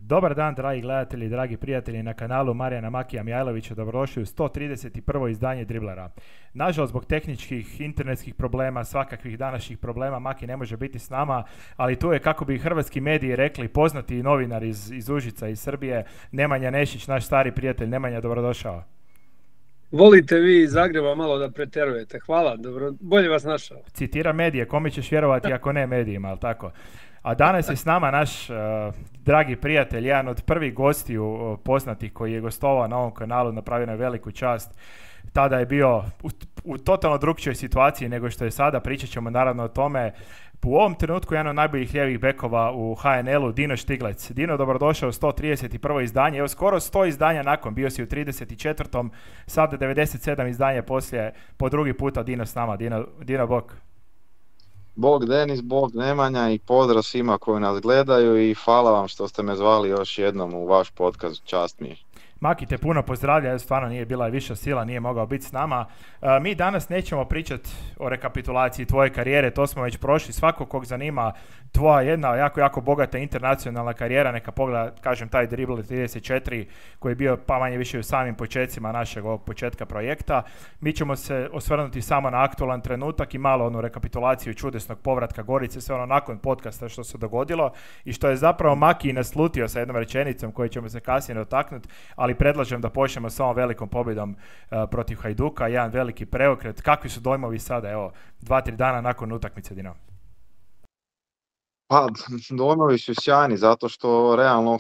Dobar dan, dragi gledatelji, dragi prijatelji na kanalu Marijana Makija Mijajlovića, dobrodošli u 131. izdanje Driblera. Nažalost, zbog tehničkih, internetskih problema, svakakvih današnjih problema, Maki ne može biti s nama, ali tu je, kako bi hrvatski mediji rekli, poznati novinar iz Užica, iz Srbije, Nemanja Nešić, naš stari prijatelj. Nemanja, dobrodošao. Volite vi iz Zagreba malo da preterujete. Hvala, dobro, bolje vas našao. Citira medije, kome ćeš vjerovati ako ne medijima, ali tako? A danas je s nama naš dragi prijatelj, jedan od prvih gostiju poznatih koji je gostovao na ovom kanalu, napravio na veliku čast. Tada je bio u totalno drugčijoj situaciji nego što je sada, pričat ćemo naravno o tome. U ovom trenutku jedan od najboljih lijevih bekova u HNL-u, Dino Štiglec. Dino, dobrodošao u 131. izdanje. Evo, skoro 100 izdanja nakon, bio si u 34. Sada 97 izdanja poslije, po drugi puta Dino s nama. Dino, bok. Bog Denis, Bog Nemanja i pozdrav svima koji nas gledaju i hvala vam što ste me zvali još jednom u vaš podcast, čast mi je. Maki te puno pozdravlja, stvarno nije bila viša sila, nije mogao biti s nama. Mi danas nećemo pričati o rekapitulaciji tvoje karijere, to smo već prošli. Svako kog zanima tvoja jedna jako bogata internacionalna karijera, neka pogleda, kažem, taj Dribble 34 koji je bio pa manje više u samim početcima našeg ovog početka projekta. Mi ćemo se osvrnuti samo na aktualan trenutak i malo onu rekapitulaciju čudesnog povratka Gorice, sve ono nakon podcasta što se dogodilo i što je zapravo Maki naslutio sa jednom rečenicom koju ćemo se kasnije dotaknuti, ali predlažem da počnemo s ovom velikom pobjedom protiv Hajduka, jedan veliki preokret. Kakvi su dojmovi sada, evo, 2-3 dana nakon utakmice, Dino? Pa, dojmovi su sjajni, zato što realno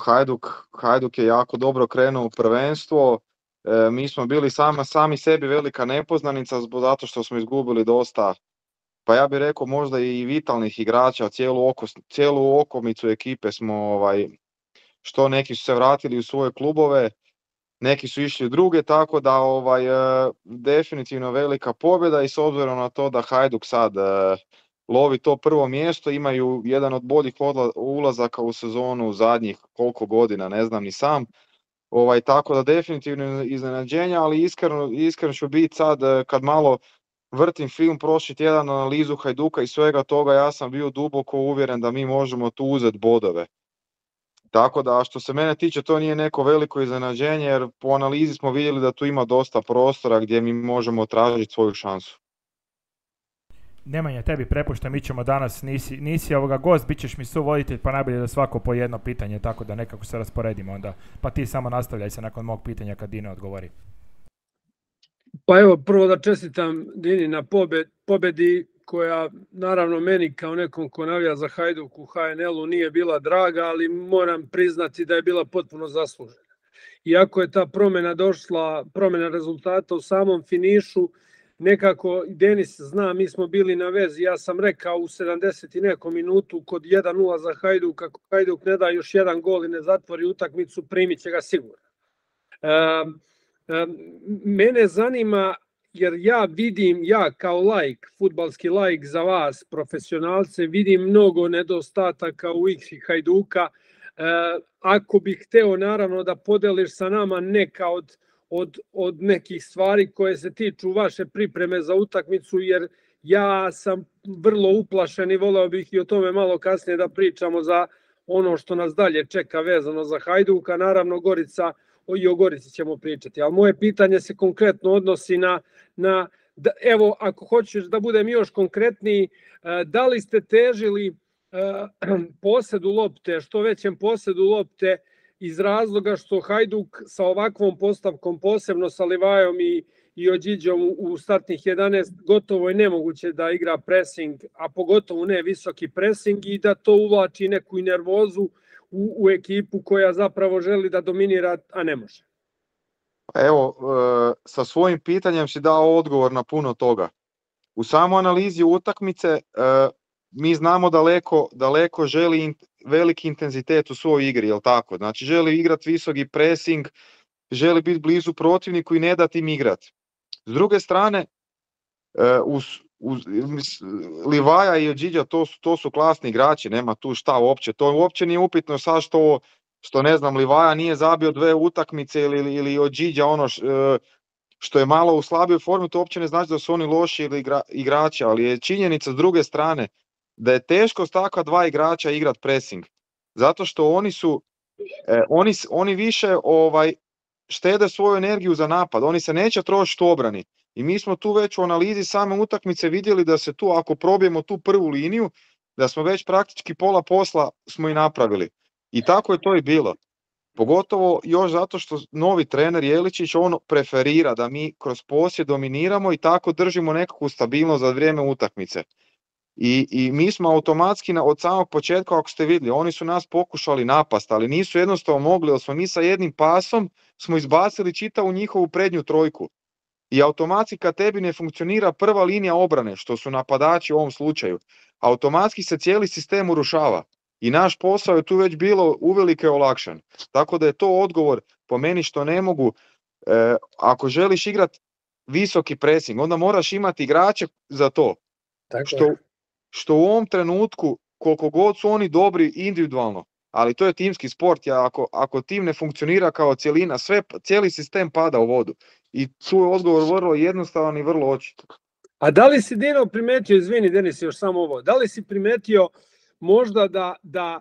Hajduk je jako dobro krenuo u prvenstvo. Mi smo bili sami sebi velika nepoznanica, zato što smo izgubili dosta, pa ja bih rekao možda i vitalnih igrača, cijelu okomicu ekipe smo, što neki su se vratili u svoje klubove, neki su išli u druge, tako da definitivno velika pobjeda i s obzirom na to da Hajduk sad lovi to prvo mjesto, imaju jedan od boljih ulazaka u sezonu zadnjih koliko godina, ne znam ni sam. Tako da definitivno iznenađenja, ali iskreno ću biti sad kad malo vrtim film prošli tjedan, analizu Hajduka i svega toga, ja sam bio duboko uvjeren da mi možemo tu uzeti bodove. Tako da što se mene tiče to nije neko veliko iznenađenje jer po analizi smo vidjeli da tu ima dosta prostora gdje mi možemo tražiti svoju šansu. Nemanja, tebi prepuštam, mi ćemo danas, nisi gost, bit ćeš mi suvoditelj, pa najbolje da svako po jedno pitanje, tako da nekako se rasporedimo onda. Pa ti samo nastavljaj se nakon mog pitanja kad Dino odgovori. Pa evo, prvo da čestitam Dini na pobjedi koja naravno meni kao nekom ko navija za Hajduk u HNL-u nije bila draga, ali moram priznati da je bila potpuno zaslužena. Iako je ta promjena rezultata u samom finišu, nekako Denis zna, mi smo bili na vezi, ja sam rekao u 70 i nekom minutu kod 1-0 za Hajduk, ako Hajduk ne da još jedan gol i ne zatvori utakmicu, primit će ga sigurno. Mene zanima, jer ja kao laik, fudbalski laik za vas, profesionalce, vidim mnogo nedostataka u igri Hajduka. Ako bih hteo naravno da podeliš sa nama neka od nekih stvari koje se tiču vaše pripreme za utakmicu, jer ja sam vrlo uplašen i voleo bih i o tome malo kasnije da pričamo za ono što nas dalje čeka vezano za Hajduka. Naravno i o Gorici ćemo pričati, ali moje pitanje se konkretno odnosi evo, ako hoćeš da budem još konkretniji, da li ste težili posedu lopte, što većem posedu lopte, iz razloga što Hajduk sa ovakvom postavkom, posebno sa Livajom i Ođiđom u startnih 11, gotovo je nemoguće da igra pressing, a pogotovo ne visoki pressing, i da to uvlači neku nervozu u ekipu koja zapravo želi da dominira, a ne može. Evo, sa svojim pitanjem si dao odgovor na puno toga. U samoj analizi utakmice mi znamo daleko želi veliki intenzitet u svojoj igri, jel tako? Znači želi igrati visoki pressing, želi biti blizu protivniku i ne dati im igrati. S druge strane, Livaja i Ođiđa to su klasni igrači, nema tu šta uopće. To uopće nije upitno sad što ne znam, Livaja nije zabio 2 utakmice ili Ođiđa što je malo u slabijoj formi, to uopće ne znači da su oni loši igrači, ali je činjenica s druge strane da je teško s takva 2 igrača igrati pressing. Zato što oni su oni više štede svoju energiju za napad, oni se neće trošiti u obrani. I mi smo tu već u analizi same utakmice vidjeli da se tu, ako probijemo tu prvu liniju, da smo već praktički pola posla smo i napravili. I tako je to i bilo. Pogotovo još zato što novi trener Jeličić, on preferira da mi kroz posjed dominiramo i tako držimo nekakvu stabilnost za vrijeme utakmice. I mi smo automatski od samog početka, ako ste vidjeli, oni su nas pokušali napast, ali nisu jednostavno mogli, jer smo mi sa jednim pasom smo izbacili čitavu njihovu prednju trojku. I automatski kad tebi ne funkcionira prva linija obrane, što su napadači u ovom slučaju, automatski se cijeli sistem urušava. I naš posao je tu već bilo uvelike olakšan. Tako da je to odgovor po meni što ne mogu, ako želiš igrati visoki pressing, onda moraš imati igrače za to. Što u ovom trenutku, koliko god su oni dobri individualno, ali to je timski sport, ako tim ne funkcionira kao cjelina, cijeli sistem pada u vodu. I tu je odgovor vrlo jednostavan i vrlo očit. A da li si Dino primetio, izvini Denis, još samo ovo, da li si primetio možda da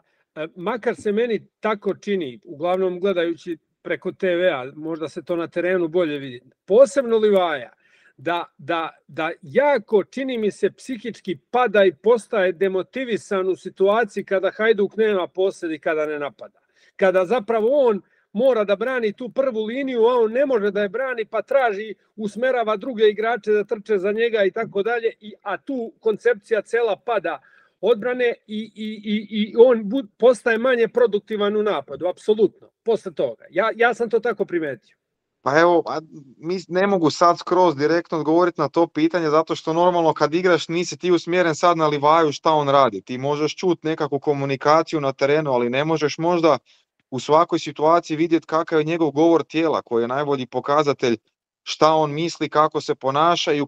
makar se meni tako čini, uglavnom gledajući preko TV-a, možda se to na terenu bolje vidi, posebno Livaja, da jako, čini mi se, psihički pada i postaje demotivisan u situaciji kada Hajduk nema posjed i kada ne napada. Kada zapravo on mora da brani tu prvu liniju, a on ne može da je brani, pa traži, usmerava druge igrače da trče za njega i tako dalje, a tu koncepcija cela pada odbrane i on postaje manje produktivan u napadu, apsolutno, posle toga. Ja sam to tako primetio. Pa evo, ne mogu sad skroz direktno odgovoriti na to pitanje, zato što normalno kad igraš nisi ti usmjeren sad na Livaju šta on radi. Ti možeš čuti nekakvu komunikaciju na terenu, ali ne možeš možda u svakoj situaciji vidjeti kakav je njegov govor tijela, koji je najbolji pokazatelj šta on misli, kako se ponaša i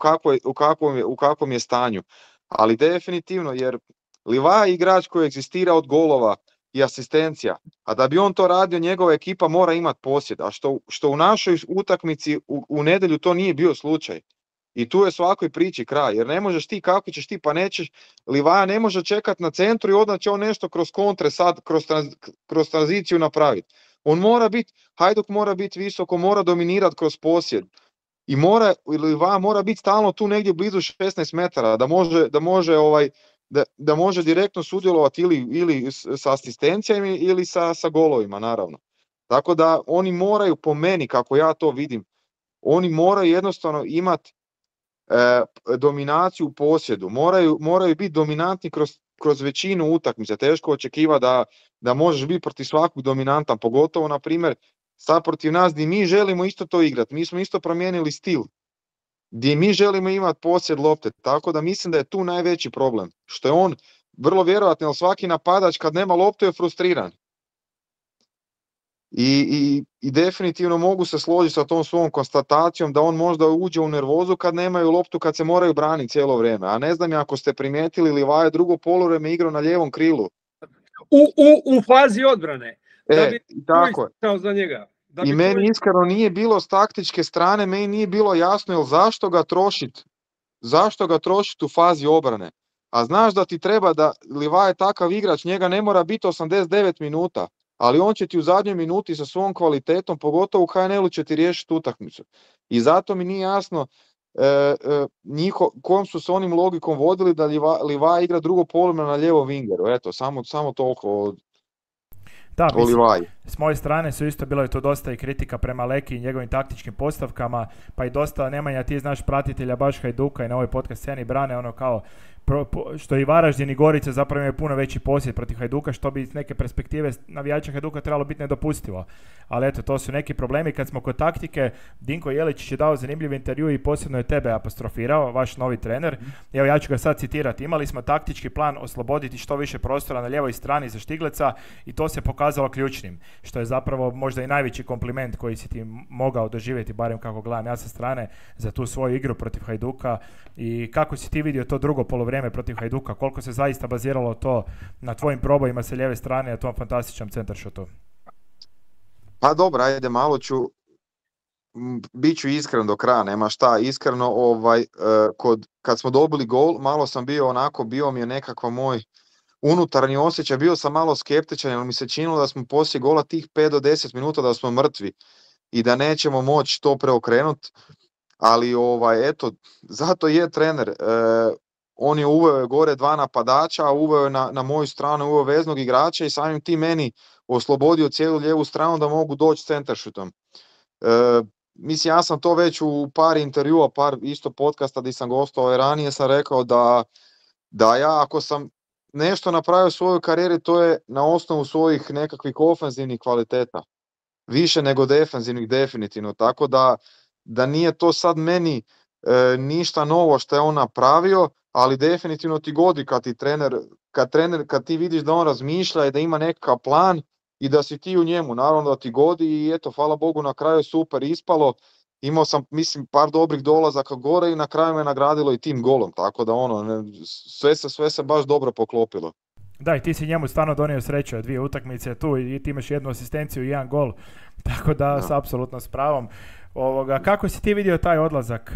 u kakvom je stanju. Ali definitivno, jer Livaja je igrač koji egzistira od golova i asistencija, a da bi on to radio, njegova ekipa mora imati posjed, a što u našoj utakmici u nedjelju to nije bio slučaj. I tu je svakoj priči kraj, jer ne možeš ti, kako ćeš ti, pa nećeš, Livaja ne može čekati na centru i onda će on nešto kroz kontre sad, kroz tranziciju napraviti. On mora biti, Hajduk mora biti visoko, mora dominirati kroz posjed. I Livaja mora biti stalno tu negdje blizu 16 metara, da može direktno sudjelovati ili sa asistencijama ili sa golovima, naravno. Tako da oni moraju, po meni, kako ja to vidim, oni moraju jednostavno imati dominaciju u posjedu, moraju biti dominantni kroz većinu utakmica. Teško očekiva da možeš biti protiv svakog dominantan, pogotovo, na primjer, sad protiv nas gdje mi želimo isto to igrati. Mi smo isto promijenili stil, gdje mi želimo imati posjed lopte, tako da mislim da je tu najveći problem. Što je on vrlo vjerojatno, jer svaki napadač kad nema loptu je frustriran. I definitivno mogu se složiti sa tom svom konstatacijom da on možda uđe u nervozu kad nemaju loptu, kad se moraju braniti cijelo vrijeme. A ne znam ako ste primijetili, Livaja drugo poluvreme igrao na lijevom krilu. U fazi odbrane. Da bi tako je. Za njega. I meni iskreno nije bilo s taktičke strane, meni nije bilo jasno jel zašto ga trošiti u fazi obrane. A znaš da ti treba da Livaja je takav igrač, njega ne mora biti 89 minuta, ali on će ti u zadnjoj minuti sa svom kvalitetom, pogotovo u HNL-u, će ti riješiti utakmicu. I zato mi nije jasno kojom su s onim logikom vodili da Livaja igra drugo poluvreme na lijevom wingeru. Eto, samo toliko Da, mislim, s moje strane su isto bilo je to dosta i kritika prema Leki i njegovim taktičkim postavkama, pa i dosta, Nemanja, ti znaš pratitelja baš Hajduka i na ovoj podcast sceni brane ono kao što i Varaždin i Gorica zapravo imaju puno veći posjed protiv Hajduka, što bi iz neke perspektive navijača Hajduka trebalo biti nedopustivo. Ali eto, to su neki problemi. Kad smo kod taktike, Dinko Jeličić je dao zanimljiv intervju i posebno je tebe apostrofirao, vaš novi trener. Evo, ja ću ga sad citirati. Imali smo taktički plan osloboditi što više prostora na lijevoj strani za Štigleca i to se pokazalo ključnim, što je zapravo možda i najveći kompliment koji si ti mogao doživjeti, barem kako gledam ja sa strane, za tu svoju igru protiv Hajduka. I kako si ti vidio to drugo polovrijeme protiv Hajduka, koliko se zaista baziralo to na tvojim probojima sa lijeve strane, a tom fantastičnom centaršotu? Pa dobro, ajde, malo bit ću iskren do kraja, nema šta, iskreno, kad smo dobili gol, malo sam bio mi je nekako unutarnji osjećaj, bio sam malo skeptičan jer mi se činilo da smo poslije gola tih 5 do 10 minuta da smo mrtvi i da nećemo moći to preokrenuti, ali eto, zato je trener. On je uveo gore 2 napadača, uveo je na moju stranu, uveo veznog igrača i samim tim meni oslobodio cijelu lijevu stranu da mogu doći centaršutom. Mislim, ja sam to već u par intervjua, par isto podcasta gdje sam gostovao ranije, sam rekao da ja ako sam nešto napravio u svojoj karijeri, to je na osnovu svojih nekakvih ofenzivnih kvaliteta. Više nego defenzivnih definitivno, tako da nije to sad meni ništa novo što je on napravio, ali definitivno ti godi kad ti vidiš da on razmišlja i da ima nekakav plan i da si ti u njemu, naravno da ti godi i eto, hvala Bogu, na kraju je super ispalo. Imao sam, mislim, par dobrih dolazaka gore i na kraju me nagradilo i tim golom, tako da sve se baš dobro poklopilo. Da, i ti si njemu stvarno donio sreću, 2 utakmice tu i ti imaš 1 asistenciju i 1 gol, tako da s apsolutno s pravom. Kako si ti vidio taj odlazak?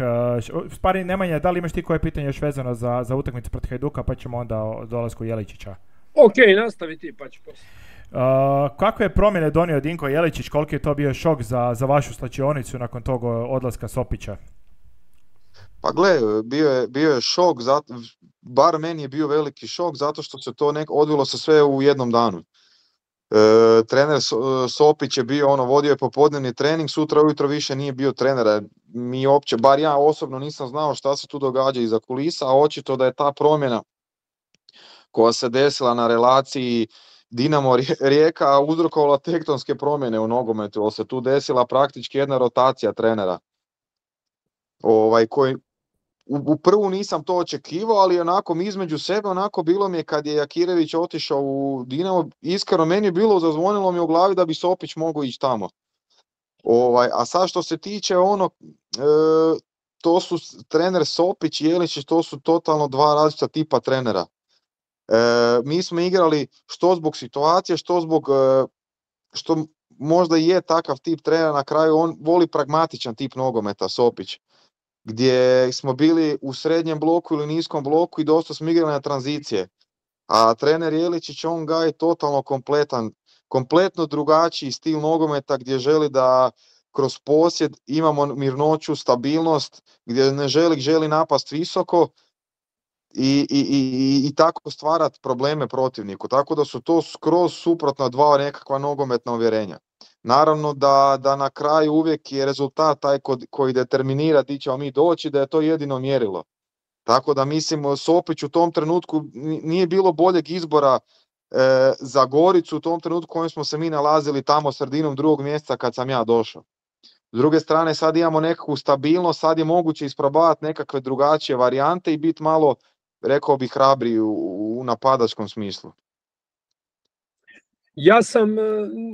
Spari, Nemanja, da li imaš ti koje pitanje još vezano za utakmicu protiv Hajduka, pa ćemo onda o dolasku Jeličića? Ok, nastavi ti, pa ću poslije. Kakve je promjene donio Dinko Jeličić, koliki je to bio šok za vašu slačionicu nakon tog odlaska Sopića? Pa gle, bio je šok, bar meni je bio veliki šok zato što se to odvilo se sve u jednom danu. Trener Sopić je bio, vodio je popodnevni trening, sutra ujutro više nije bio trenera. Mi uopće, bar ja osobno nisam znao šta se tu događa iza kulisa, a očito da je ta promjena koja se desila na relaciji Dinamo Rijeka uzrokovala tektonske promjene u nogometu, ali se tu desila praktički jedna rotacija trenera. Koji u prvu nisam to očekivao, ali onako između sebe bilo mi je kad je Jakirević otišao u Dinamo, iskreno meni je bilo, zazvonilo mi u glavi da bi Sopić mogao ići tamo. A sad što se tiče to su trener Sopić i Jeličić, to su totalno 2 različita tipa trenera. Mi smo igrali što zbog situacije, što zbog što možda je takav tip trenera, na kraju on voli pragmatičan tip nogometa, Sopić, gdje smo bili u srednjem bloku ili niskom bloku i dosta smo igrali na tranzicije. A trener Jeličić, on gaji totalno kompletno drugačiji stil nogometa gdje želi da kroz posjed imamo mirnoću, stabilnost, gdje ne želi napast visoko i tako stvarati probleme protivniku. Tako da su to skroz suprotna 2 nekakva nogometna uvjerenja. Naravno da na kraju uvijek je rezultat taj koji determinira di ćemo mi doći, da je to jedino mjerilo. Tako da mislim, Sopić u tom trenutku nije bilo boljeg izbora za Goricu u tom trenutku u kojem smo se mi nalazili tamo sredinom 2. mjeseca kad sam ja došao. S druge strane sad imamo nekakvu stabilnost, sad je moguće isprobavati nekakve drugačije varijante i biti malo, rekao bih, hrabri u napadačkom smislu. Ja sam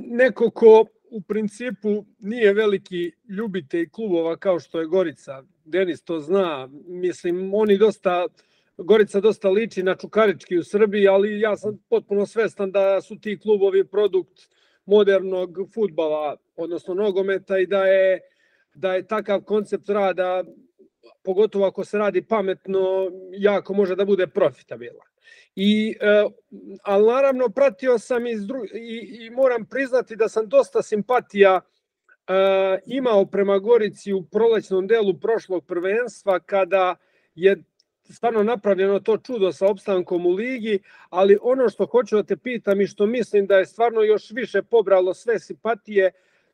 neko ko u principu nije veliki ljubitelj klubova kao što je Gorica. Denis to zna. Mislim, Gorica dosta liči na Čukarički u Srbiji, ali ja sam potpuno svestan da su ti klubovi produkt modernog fudbala, odnosno nogometa, i da je takav koncept rada, pogotovo ako se radi pametno, jako može da bude profitabilan. Ali naravno pratio sam i moram priznati da sam dosta simpatija imao prema Gorici u prolećnom delu prošlog prvenstva, kada je stvarno napravljeno to čudo sa opstankom u ligi, ali ono što hoću da te pitam i što mislim da je stvarno još više pobralo sve simpatije,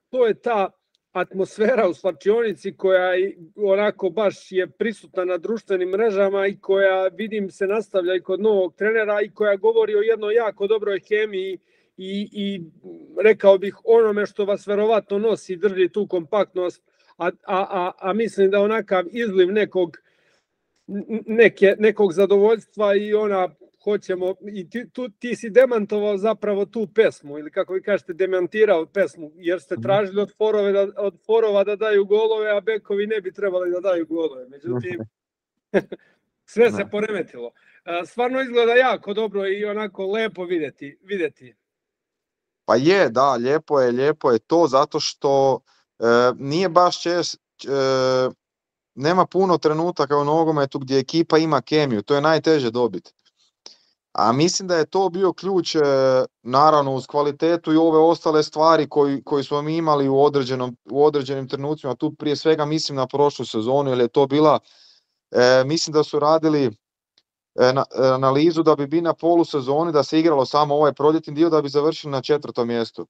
to je ta atmosfera u slačionici koja onako baš je prisutna na društvenim mrežama i koja, vidim, se nastavlja i kod novog trenera i koja govori o jednoj jako dobroj hemiji i rekao bih onome što vas verovatno nosi, drži tu kompaktnost, a mislim da onakav izliv nekog zadovoljstva i hoćemo, i ti si demantovao zapravo tu pesmu, ili kako vi kažete, demantirao pesmu, jer ste tražili od forova da daju golove, a bekovi ne bi trebali da daju golove. Međutim, sve se poremetilo. Stvarno izgleda jako dobro i onako lepo vidjeti. Pa je, da, lijepo je to, zato što nije baš nema puno trenutaka u nogometu gdje ekipa ima kemiju, to je najteže dobiti. A mislim da je to bio ključ, naravno uz kvalitetu i ove ostale stvari koji smo mi imali u određenim trenucima. Tu prije svega mislim na prošlu sezonu, jer je to bila, mislim da su radili analizu da bi na polusezoni, da se igralo samo ovaj proljetni dio, da bi završili na 4. mjestu.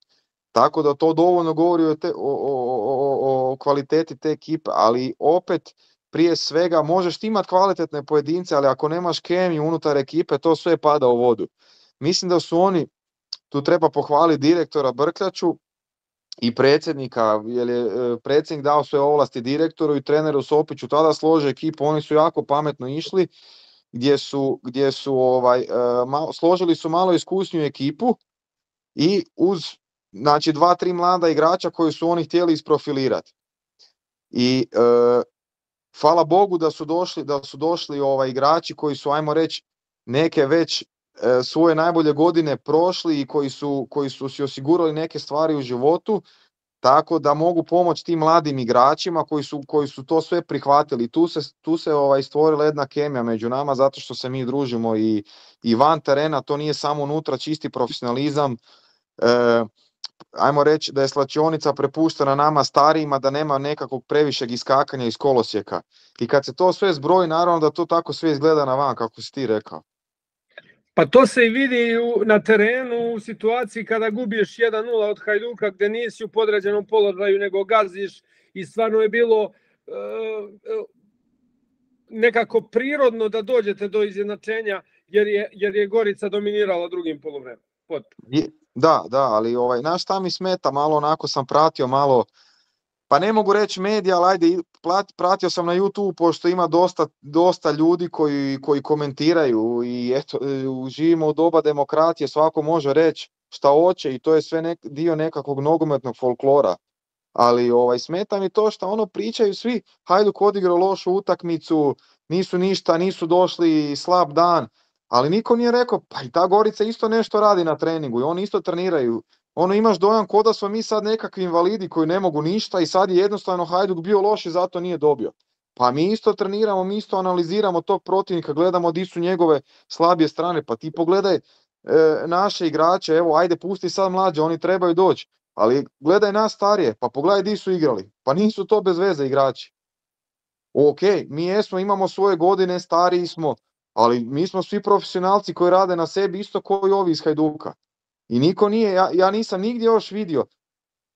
Tako da to dovoljno govori o kvaliteti te ekipe, ali opet prije svega možeš ti imati kvalitetne pojedince, ali ako nemaš kemiju unutar ekipe, to sve pada u vodu. Mislim da su oni, tu treba pohvaliti direktora Brkljaču i predsjednika, jer je predsjednik dao sve ovlasti direktoru i treneru Sopiću, tada slože ekipu, oni su jako pametno išli, gdje su složili su malo iskusniju ekipu i uz znači 2-3 mlada igrača koji su oni htjeli isprofilirati. I hvala Bogu da su došli igrači koji su, ajmo reći, neke već svoje najbolje godine prošli i koji su si osigurali neke stvari u životu, tako da mogu pomoći tim mladim igračima koji su to sve prihvatili. Tu se stvorila jedna kemija među nama, zato što se mi družimo i van terena, to nije samo unutra čisti profesionalizam. Ajmo reći da je slačionica prepuštena nama starijima, da nema nekakvog previšeg iskakanja iz kolosijeka. I kad se to sve zbroji, naravno da to tako sve izgleda na van, kako si ti rekao. Pa to se i vidi na terenu u situaciji kada gubiš 1-0 od Hajduka, gdje nisi u podređenom položaju nego gaziš, i stvarno je bilo nekako prirodno da dođete do izjednačenja, jer je Gorica dominirala drugim poluvremenom. Da, ali znaš šta mi smeta, malo onako sam pratio malo, pa ne mogu reći medija, ali ajde, pratio sam na YouTube, pošto ima dosta ljudi koji komentiraju i eto, živimo u doba demokratije, svako može reći šta hoće i to je sve dio nekakvog nogometnog folklora. Ali smeta mi to što pričaju svi, Hajduk odigrao lošu utakmicu, nisu ništa, nisu došli, slab dan. Ali niko nije rekao, pa i ta Gorica isto nešto radi na treningu i oni isto treniraju. Imaš dojam ko da smo mi sad nekakvi invalidi koji ne mogu ništa i sad je jednostavno Hajduk bio loš i zato nije dobio. Pa mi isto treniramo, mi isto analiziramo tog protivnika, gledamo di su njegove slabije strane. Pa ti pogledaj naše igrače, evo ajde pusti sad mlađe, oni trebaju doći. Ali gledaj nas starije, pa pogledaj di su igrali. Pa nisu to bez veze igrači. Ok, mi jesmo, imamo svoje godine, stariji smo. Ali mi smo svi profesionalci koji rade na sebi isto kao i ovi iz Hajduka. I niko nije, ja nisam nigdje još vidio,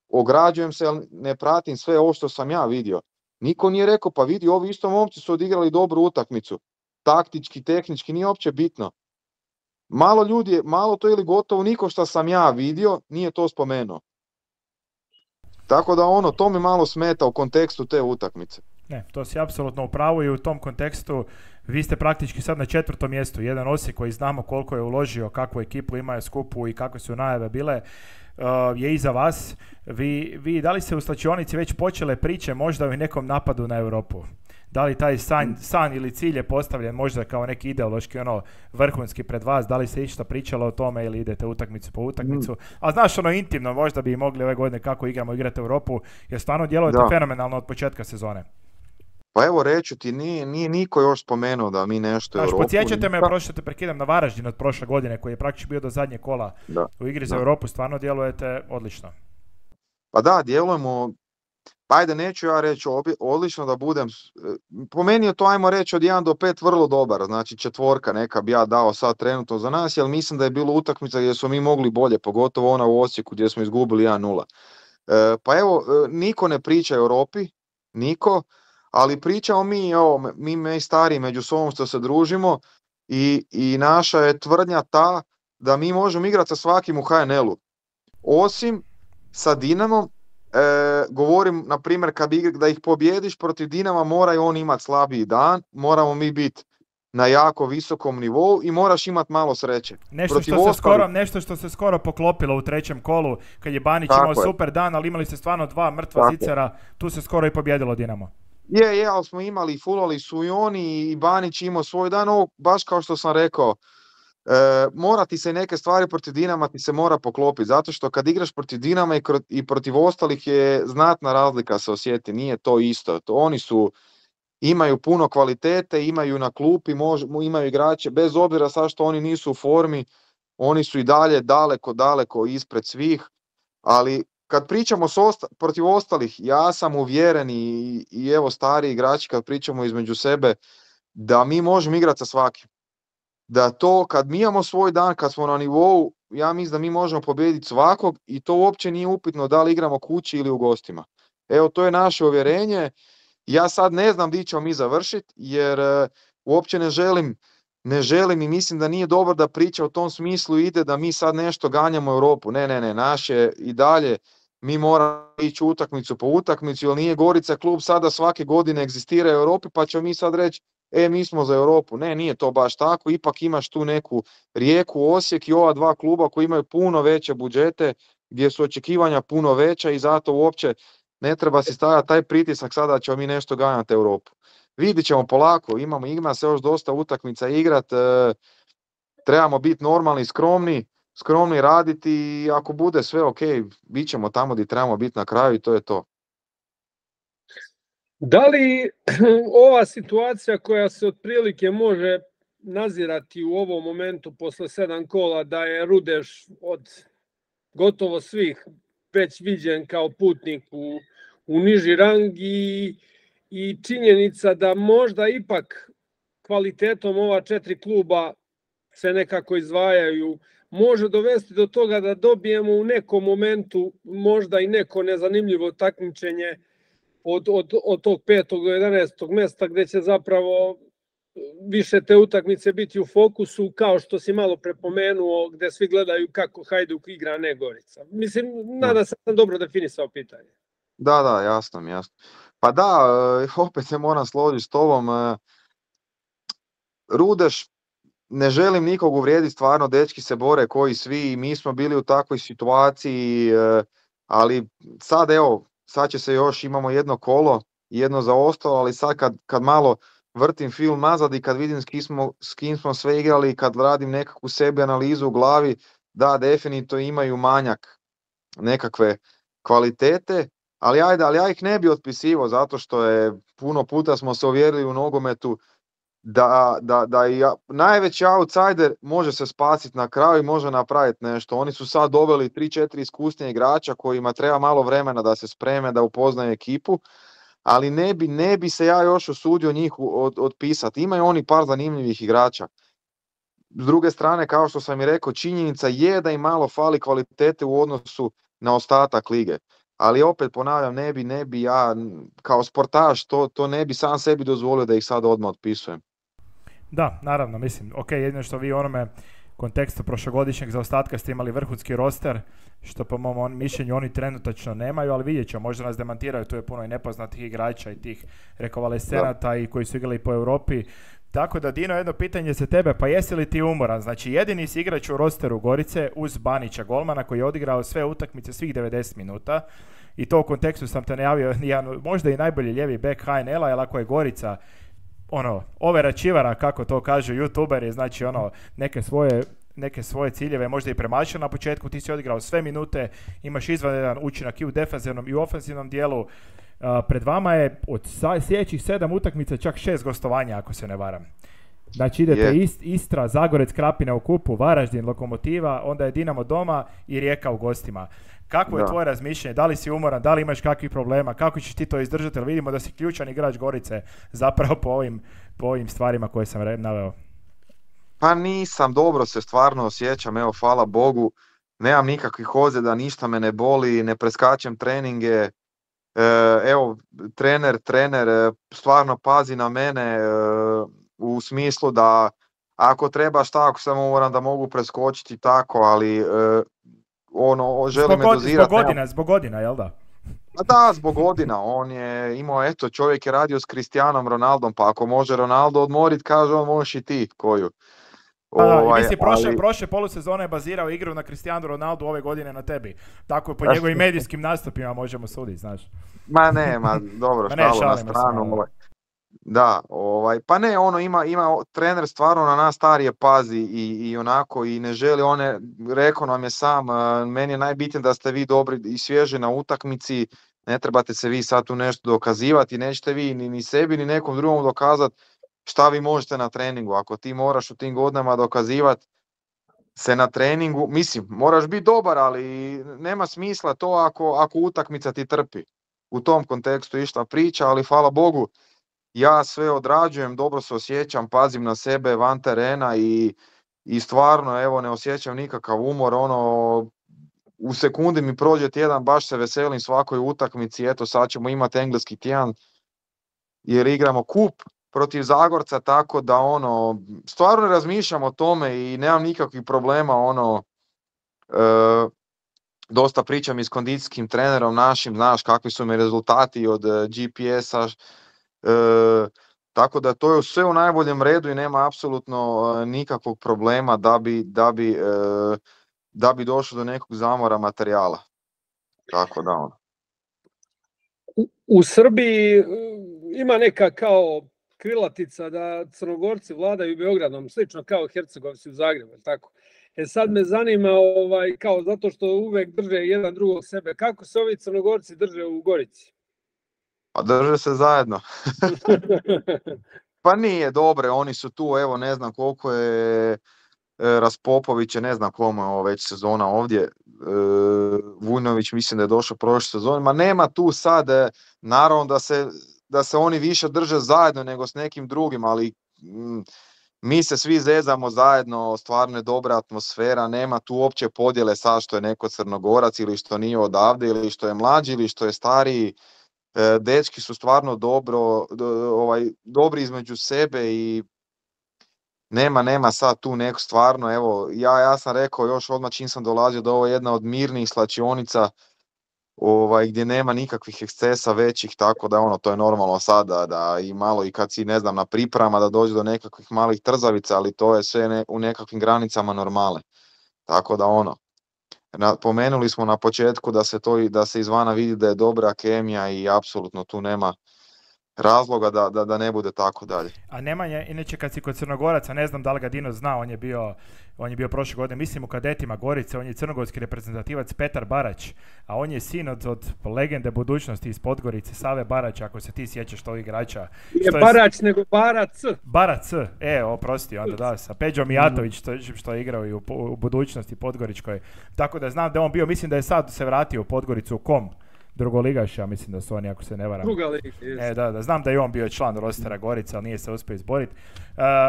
ograđujem se, ne pratim sve ovo što sam ja vidio. Niko nije rekao, pa vidi, ovi isto momci su odigrali dobru utakmicu. Taktički, tehnički, nije uopće bitno. Malo ljudi, malo to ili gotovo niko što sam ja vidio, nije to spomenuo. Tako da to mi malo smeta u kontekstu te utakmice. Ne, to si apsolutno u pravu i u tom kontekstu vi ste praktički sad na 4. mjestu. Jedan Osijek koji znamo koliko je uložio, kakvu ekipu imaju skupu i kakve su najave bile, je iza vas. Vi da li se u slačionici već počele priče možda o nekom napadu na Europu? Da li taj san ili cilj je postavljen možda kao neki ideološki vrhunski pred vas? Da li se išta pričalo o tome ili idete utakmicu po utakmicu? A znaš intimno, možda bi mogli ove godine kako igrati Europu, jer stvarno djelujete fenomenalno od početka sezone. Pa evo reću ti, nije niko još spomenuo da mi nešto Europu... Podsjećate me, prošle te prekidam, na Varaždin od prošle godine koji je praktički bio do zadnje kola u igri za Europu, stvarno djelujete odlično. Pa da, djelujemo, pa ajde neću ja reći odlično da budem, po meni je to ajmo reći od 1 do 5 vrlo dobar, znači 4 neka bi ja dao sad trenutno za nas, jer mislim da je bilo utakmica gdje smo mi mogli bolje, pogotovo ona u Osijeku gdje smo izgubili 1-0. Pa evo, niko ne priča o Europi, niko, ali pričamo mi stariji među sobom što se družimo i naša je tvrdnja ta da mi možemo igrati sa svakim u HNL-u. Osim sa Dinamom, govorim na primjer da ih pobjediš protiv Dinama mora i on imati slabiji dan, moramo mi biti na jako visokom nivou i moraš imati malo sreće. Nešto što se skoro poklopilo u 3. kolu kad je Banić imao super dan, ali imali ste stvarno 2 mrtva zicera, tu se skoro i pobjedilo Dinamo. Ali smo imali, fulali su i oni i Banić imao svoj dan, baš kao što sam rekao, mora ti se neke stvari protiv Dinama ti se mora poklopiti, zato što kad igraš protiv Dinama i protiv ostalih je znatna razlika se osjeti, nije to isto. Oni su imaju puno kvalitete, imaju na klupi, imaju igrače, bez obzira sad što oni nisu u formi, oni su i dalje daleko ispred svih, ali kad pričamo protiv ostalih, ja sam uvjeren i evo stari igrači kad pričamo između sebe, da mi možemo igrati sa svakim. Da to kad mi imamo svoj dan, kad smo na nivou, ja mislim da mi možemo pobijediti svakog i to uopće nije upitno da li igramo kući ili u gostima. Evo, to je naše uvjerenje. Ja sad ne znam gdje ćemo mi završiti, jer uopće ne želim i mislim da nije dobro da priča u tom smislu ide da mi sad nešto ganjamo Europu. Ne, naše i dalje mi moramo ići utakmicu po utakmicu, jer nije Gorica klub sada svake godine egzistira u Europi, pa ćemo mi sad reći mi smo za Europu. Ne, nije to baš tako, ipak imaš tu neku Rijeku, Osijek i ova dva kluba koji imaju puno veće budžete, gdje su očekivanja puno veća i zato uopće ne treba si stavljati taj pritisak sada ćemo mi nešto ganjati Europu. Vidit ćemo polako, ima se još dosta utakmica igrat, trebamo biti normalni, skromni raditi i ako bude sve ok, bit ćemo tamo gdje trebamo biti na kraju i to je to. Da li ova situacija koja se otprilike može nazirati u ovom momentu posle 7 kola da je Rudeš od gotovo svih već viđen kao putnik u niži rang i činjenica da možda ipak kvalitetom ova 4 kluba se nekako izdvajaju, može dovesti do toga da dobijemo u nekom momentu možda i neko nezanimljivo takmičenje od tog 5. do 11. mjesta gdje će zapravo više te utakmice biti u fokusu, kao što si malo prepomenuo, gdje svi gledaju kako Hajduk igra, ne Gorica. Mislim, nadam se sam dobro definisao pitanje. Da, jasno. Pa da, opet se moram složiti s tobom. Rudeš, ne želim nikog uvrijediti, stvarno dečki se bore koji svi, mi smo bili u takvoj situaciji, ali sad će se još, imamo jedno kolo, jedno zaostalo, ali sad kad malo vrtim film nazad i kad vidim s kim smo sve igrali, kad radim nekakvu sebi analizu u glavi, da, definitivno imaju manjak nekakve kvalitete, ali ja ih ne bi otpisivao zato što je puno puta smo se uvjerili u nogometu da najveći outsider može se spasiti na kraju i može napraviti nešto. Oni su sad doveli 3-4 iskusnije igrača kojima treba malo vremena da se spreme, da upoznaju ekipu, ali ne bi se ja još usudio njih otpisati. Imaju oni par zanimljivih igrača. S druge strane, kao što sam i rekao, činjenica je da im malo fali kvalitete u odnosu na ostatak lige. Ali opet ponavljam, ne bi ja kao sportaš to ne bi sam sebi dozvolio da ih sad odmah otpisujem. Da, naravno, mislim, ok, jedino što vi u onome kontekstu prošlogodišnjeg zaostatka ste imali vrhunski roster, što po mom mišljenju oni trenutačno nemaju, ali vidjet ćemo, možda nas demantiraju, tu je puno i nepoznatih igrača i tih rekonvalescenata i koji su igrali po Europi. Tako da, Dino, jedno pitanje za tebe, pa jesi li ti umoran? Znači, jedini si igrač u rosteru Gorice uz Banića golmana koji je odigrao sve utakmice svih 90 minuta i to u kontekstu sam te najavio, možda i najbolji lijevi bek HNL-a, jer ako je Gorica overa čivara, kako to kažu youtuberi, znači neke svoje ciljeve možda i premašio na početku, ti si odigrao sve minute, imaš izvanredan učinak i u defenzivnom i u ofenzivnom dijelu. Pred vama je od sljedećih 7 utakmica čak 6 gostovanja, ako se ne varam. Znači idete Istra, Zagorec, Krapina u kupu, Varaždin, Lokomotiva, onda je Dinamo doma i Rijeka u gostima. Kako je tvoje razmišljanje? Da li si umoran? Da li imaš kakvih problema? Kako ćeš ti to izdržati? Jer vidimo da si ključan igrač Gorice zapravo po ovim stvarima koje sam naveo. Pa nisam, dobro se stvarno osjećam, evo hvala Bogu, nemam nikakvih ozljeda, ništa me ne boli, ne preskačem treninge, evo trener stvarno pazi na mene u smislu da ako treba šta, ako sam umoran da mogu preskočiti tako, ali želi me dozirati. Zbog godina, jel da? Da, zbog godina, on je imao, čovjek je radio s Cristianom Ronaldom, pa ako može Ronaldo odmorit, kaže on, možeš i ti koju. Mislim, prošle polusezone je bazirao igru na Cristiano Ronaldo, ove godine na tebi. Tako po njegovim medijskim nastupima možemo suditi, znaš. Dobro, šalu na stranu. Da, pa ne, ima trener stvarno na nas starije pazi i onako i ne želi, rekao nam je sam, meni je najbitnije da ste vi dobri i svježi na utakmici, Ne trebate se vi sad tu nešto dokazivati, nećete vi ni sebi ni nekom drugom dokazati šta vi možete na treningu. Ako ti moraš u tim godinama dokazivati se na treningu, mislim, moraš biti dobar, ali nema smisla to ako utakmica ti trpi. U tom kontekstu išla priča, ali hvala Bogu, ja sve odrađujem, dobro se osjećam, pazim na sebe van terena i stvarno, evo, ne osjećam nikakav umor, u sekundi mi prođe tjedan, baš se veselim svakoj utakmici, eto sad ćemo imati engleski tjedan jer igramo kup protiv Zagorca, tako da stvarno razmišljam o tome i nemam nikakvih problema, dosta pričam i s kondicijskim trenerom našim, znaš kakvi su mi rezultati od GPS-a, tako da to je sve u najboljem redu i nema apsolutno nikakvog problema da bi došlo do nekog zamora materijala. Tako da U Srbiji ima neka kao krilatica da Crnogorci vladaju Beogradom, slično kao Hercegovci u Zagrebu, tako? Sad me zanima, kao zato što uvek drže jedan drugog sebe, kako se ovi Crnogorci drže u Gorici? Pa drže se zajedno. Pa nije, dobre, oni su tu, evo ne znam koliko je Raspopović, ne znam komu je ovo već sezona ovdje, Vujnović mislim da je došao prošle sezone, ma nema tu sad, naravno da se oni više drže zajedno nego s nekim drugim, ali mi se svi zezamo zajedno, stvarno je dobra atmosfera, nema tu uopće podjele sad što je neko Crnogorac ili što nije odavde ili što je mlađi ili što je stariji. Dečki su stvarno dobri između sebe i nema sad tu neko stvarno, evo, ja sam rekao još odmah čim sam dolazio da ovo je jedna od mirnijih slačionica gdje nema nikakvih ekscesa većih, tako da to je normalno sada da i malo i kad si ne znam na pripremama da dođe do nekakvih malih trzavica, ali to je sve u nekakvim granicama normale. Tako da pomenuli smo na početku da se izvana vidi da je dobra kemija i apsolutno tu nema razloga da ne bude tako dalje. A Nemanja, inače kad si kod Crnogoraca, ne znam da li ga Dino zna, on je bio prošle godine, mislim u kadetima Gorice, on je crnogorski reprezentativac Petar Barać, a on je sin od legende budućnosti iz Podgorice, Save Barać, ako se ti sjećaš tog igrača. Nije Barać, nego Barac. Barac, oprosti, onda da, sa Peđom Mijatović, što je igrao i u budućnosti Podgoričkoj. Tako da znam da on bio, mislim da je sad se vratio u Podgoricu u Kom. Drugoligaša, mislim da su oni, ako se ne varam. Druga liga, da, znam da je on bio član rostera Gorica, ali nije se uspio izboriti.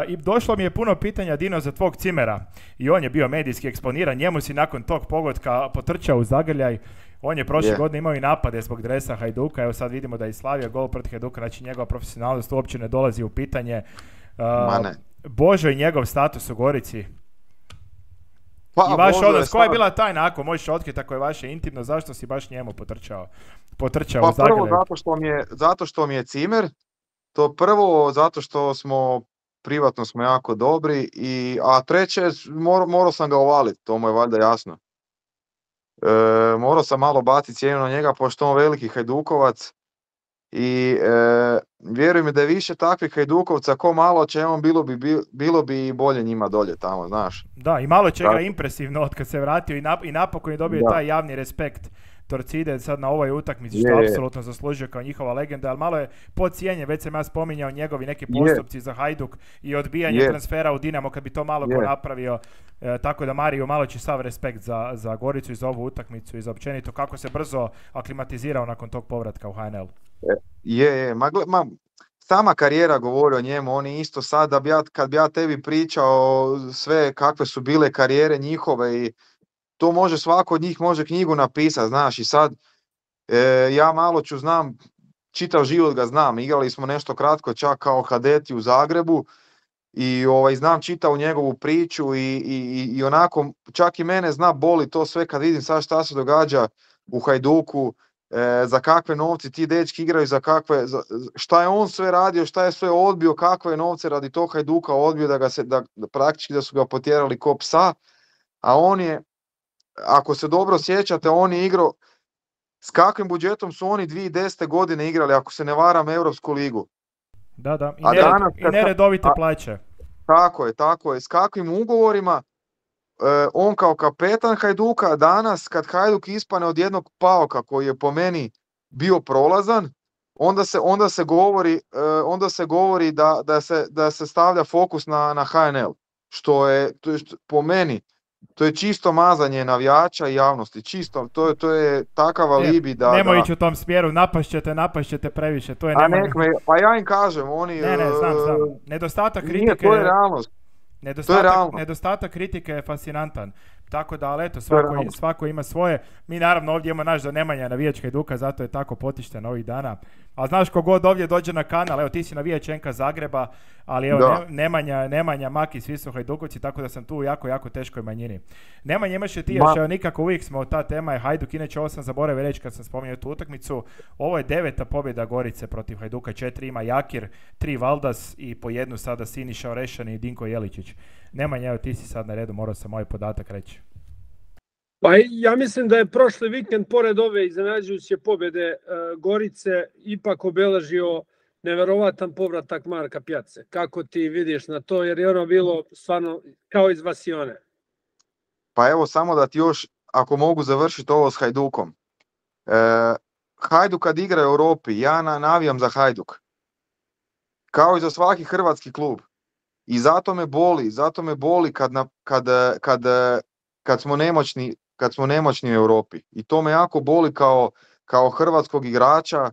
I došlo mi je puno pitanja, Dino, za tvog Cimera. I on je bio medijski eksponiran, njemu si nakon tog pogotka potrčao u zagrljaj. On je prošle godine imao i napade zbog dresa Hajduka, evo sad vidimo da je slavio gol protiv Hajduka, znači njegova profesionalnost uopće ne dolazi u pitanje. Božo i njegov status u Gorici. I vaš odnos, koja je bila tajna, ako možeš otkriti, ako je vaše intimno, zašto si baš njemu potrčao u Zagrebu? Prvo zato što mi je Cimer, to prvo zato što privatno smo jako dobri, a treće, morao sam ga uvaliti, to mu je valjda jasno. Morao sam malo baciti cijenu na njega, pošto on veliki Hajdukovac i vjeruj mi da je više takvih Hajdukovca ko malo će on bilo bi i bolje njima dolje tamo, znaš. Da, i malo će ga impresivno od kad se vratio i napokon je dobio taj javni respekt Torcide sad na ovoj utakmici, što apsolutno zaslužio kao njihova legenda, ali malo je podcijenjen, već sam ja spominjao njegovi neki postupci za Hajduk i odbijanje transfera u Dinamo, kad bi to malo ko napravio, tako da Mario malo će sav respekt za Goricu i za ovu utakmicu i za općenito kako se brzo aklimatizirao nakon tog povratka u HNL. Sama karijera govori o njemu, on je isto sad, kad bi ja tebi pričao sve kakve su bile karijere njihove i to može svako od njih može knjigu napisati, znaš, i sad ja malo znam, čitav život ga znam, igrali smo nešto kratko čak kao kadeti u Zagrebu i znam čitavu njegovu priču i onako čak i mene boli to sve kad vidim sad šta se događa u Hajduku, za kakve novci ti dečki igraju, šta je on sve radio, šta je sve odbio, kakve novce radi tog Hajduka odbio da praktički da su ga potjerali ko psa, a on je, ako se dobro sjećate, on je igrao, s kakvim budžetom su oni 2010. godine igrali, ako se ne varam, Europsku ligu. Da, i neredovite plaće. Tako je, s kakvim ugovorima, on kao kapetan Hajduka, danas kad Hajduk ispane od jednog Paoka koji je po meni bio prolazan, onda se govori da se stavlja fokus na HNL, što je po meni to je čisto mazanje navijača i javnosti, čisto, to je takav alibi da... Nemoj ići u tom smjeru, napašćete previše, to je pa ja im kažem, oni... Ne, znam. Nedostatak kritike... Nije, to je realnost. Nedostatak kritike je fascinantan. Tako da, ali eto, svako ima svoje. Mi naravno ovdje imamo naš za Nemanja navijač Hajduka, zato je tako potišten ovih dana. A znaš, kogod ovdje dođe na kanal, evo ti si navijač NK Zagreba, ali evo Nemanja, Maki, svi su Hajdukovci, tako da sam tu jako teškoj manjini. Nemanja, imaš je ti još, evo nikako uvijek smo, ta tema je Hajduk, inače ovo sam zaboravio reći kad sam spominjao tu utakmicu, ovo je 9. pobjeda Gorice protiv Hajduka, 4 ima Jakir, 3 Valdas i po jednu sada Siniša Orešan i Dinko Jeličić. Nemanja, evo ti si sad na redu, morao sam ovaj podatak reći. Pa ja mislim da je prošli vikend, pored ove iznenađujuće pobjede Gorice, ipak obeležio neverovatan povratak Marka Pjace. Kako ti vidiš na to, jer je ono bilo stvarno kao iz vasione? Pa evo, samo da ti još, ako mogu završiti ovo s Hajdukom. Hajduk kad igra u Europi, ja navijam za Hajduk. Kao i za svaki hrvatski klub. I zato me boli kad smo nemoćni u Europi. I to me jako boli kao hrvatskog igrača,